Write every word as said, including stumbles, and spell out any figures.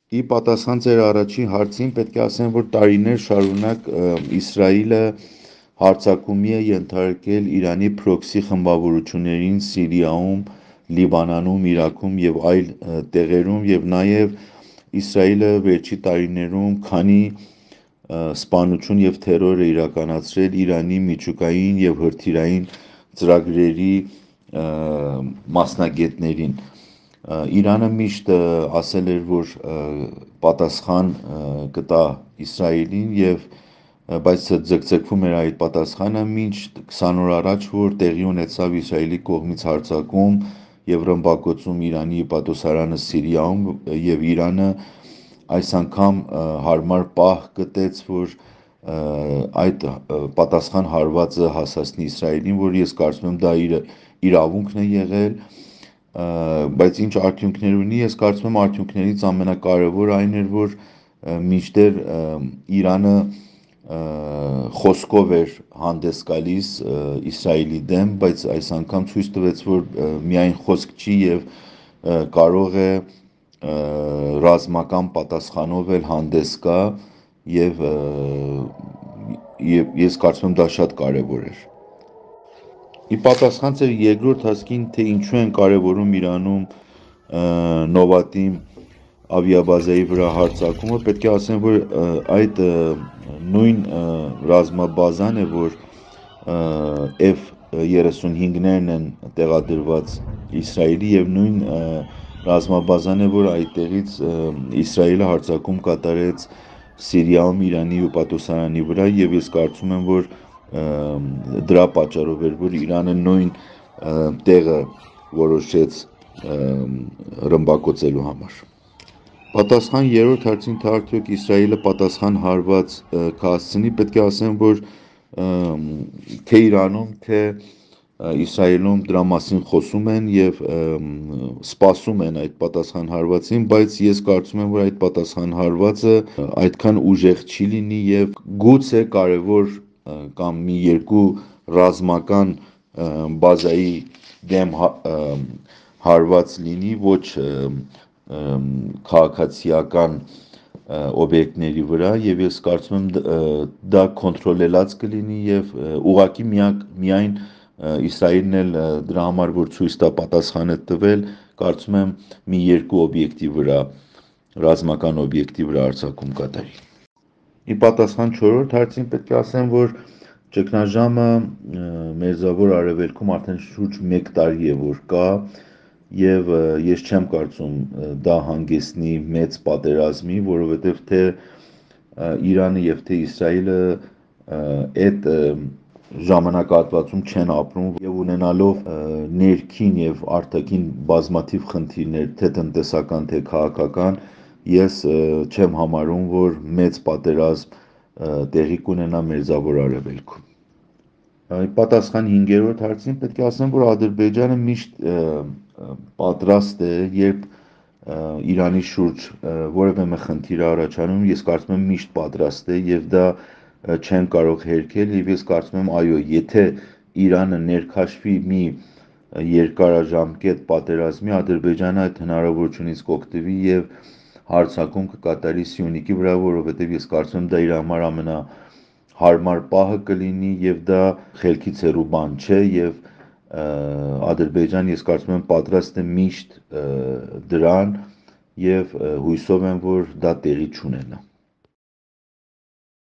Ի պատասխան ձեր առաջին հարցին պետք է ասեմ, որ տարիներ շարունակ Իսրայելը հարձակումի է ենթարկել Իրանի փրոքսի խմբավորություններին Սիրիայում, Լիբանանում, Իրաքում եւ այլ տեղերում եւ նաեւ Իսրայելը վերջի տարիներում քանի սպանություն եւ թերոր է իրականացրել Իրանի միջուկային եւ հրթիռային ծրագրերի մասնագետներին։ Իրանը միշտ ասել էր, որ պատասխան կտա Իսրայելին եւ բայց ձգձգվում էր այդ պատասխանը մինչ քսան օր առաջ, որ տեղի ունեցավ Իսրայելի կողմից հարձակում եւ ռմբակոծում Իրանի պատոսարանը Սիրիայում եւ Իրանը այս անգամ հարմար պահ գտեց, որ այդ պատասխան հարվածը հասացնի Իսրայելին, որ ես կարծում եմ դա իր իրավունքն է եղել, բայց ինչ արդյունքներ ունի, ես կարծում եմ արդյունքներից ամենակարևորը այն էր, որ մինչդեռ Իրանը խոսքով էր հանդես գալիս Իսրայելի դեմ, բայց այս անգամ ցույց տվեց, որ միայն խոսք չի եւ կարող է ռազմական պատասխանով էլ հանդես գա եւ եւ ես կարծում եմ դա շատ կարեւոր էր։ Ի պատասխան ձեր երկրորդ հասկին, թե ինչու են կարևորում Իրանում Նովատիմ ավիաբազայի վրա հարձակումը, պետք է ասեմ, որ այդ նույն ռազմաբազան է, որ F thirty-five-ներն են տեղադրված Իսրայելի եւ նույն ռազմաբազան է, որ այդտեղից Իսրայելը հարձակում կատարեց Սիրիայում Իրանի ու պատոսարանի վրա եւ ես կարծում եմ, որ դրա պատճառով էր, որ Իրանը նույն տեղը որոշեց ռմբակոծելու համար։ Պատասխան երրորդ հարցին, թե արդյոք Իսրայելը պատասխան հարված կհասցնի, պետք է ասեմ, որ թե Իրանում, թե Իսրայելում դրա մասին խոսում են եւ սպասում են այդ պատասխան հարվածին, բայց ես կարծում եմ, որ այդ պատասխան հարվածը այդքան ուժեղ չի լինի եւ գուցե կարևոր կամ մի երկու ռազմական բազայի դեմ հարված լինի, ոչ քաղաքացիական օբյեկտների վրա եւ ես կարծում եմ դա կոնտրոլելած կլինի եւ ուղղակի միակ միայն Իսրայելն էլ դրա համար որ ցույց տա պատասխանը տվել, կարծում եմ մի երկու օբյեկտի վրա ռազմական օբյեկտի վրա արձակում կատարի։ Ի պատասխան չորրորդ հարցին պետք է ասեմ, որ ճգնաժամը Մերձավոր Արևելքում արդեն շուրջ մեկ տարի է որ կա եւ ես չեմ կարծում դա հանգեցնի մեծ պատերազմի, որովհետեւ թե Իրանը եւ թե Իսրայելը այդ ժամանակահատվածում չեն ապրում եւ ունենալով ներքին եւ արտաքին բազմաթիվ խնդիրներ, թե տնտեսական, թե քաղաքական, ես չեմ համարում, որ մեծ պատերազմ տեղի կունենա Մերձավոր Արևելքում։ Պատասխան հինգերորդ հարցին պետք է ասեմ, որ Ադրբեջանը միշտ պատրաստ է, երբ Իրանի շուրջ որևէ մի խնդիր առաջանում, ես կարծում եմ միշտ պատրաստ է եւ դա չեն կարող հերքել եւ ես կարծում եմ այո, եթե Իրանը ներքաշվի մի երկարաժամկետ պատերազմի, Ադրբեջանը այդ հնարավորությունից կօգտվի եւ հարձակում կկատարի Սյունիքի վրա, որովհետեւ ես կարծում եմ դա իր համար ամենահարմար պահը կլինի եւ դա խելքից հեռու բան չէ եւ Ադրբեջան ես կարծում եմ պատրաստ է միշտ դրան եւ հույսով եմ, որ դա տեղի չունենա։